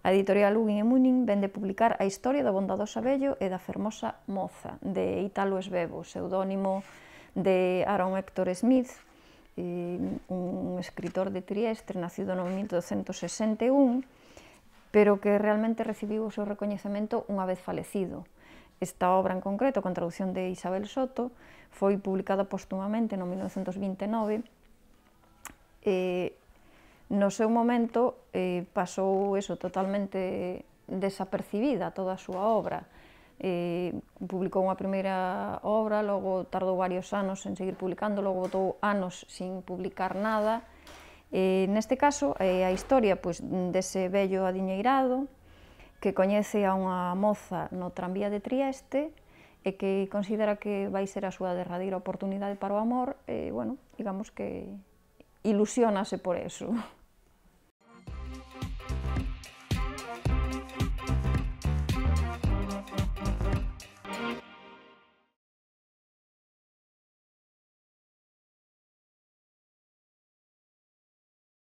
A editorial Ugin e Munin vende publicar a historia do bondadoso vello e da fermosa moza, de Italo Svevo, pseudónimo de Aaron Hector Smith, un escritor de Trieste, nacido no 1261, pero que realmente recibiu o seu recoñecemento unha vez falecido. Esta obra en concreto, con traducción de Isabel Soto, foi publicada póstumamente no 1929. No seu momento pasou totalmente desapercibida toda a súa obra. Publicou unha primeira obra, logo tardou varios anos en seguir publicando, logo botou anos sin publicar nada. Neste caso, a historia dese vello adiñeirado que coñece a unha moza no tranvía de Trieste e que considera que vai ser a súa derradeira oportunidade para o amor, e, bueno, digamos que ilusiónase por eso.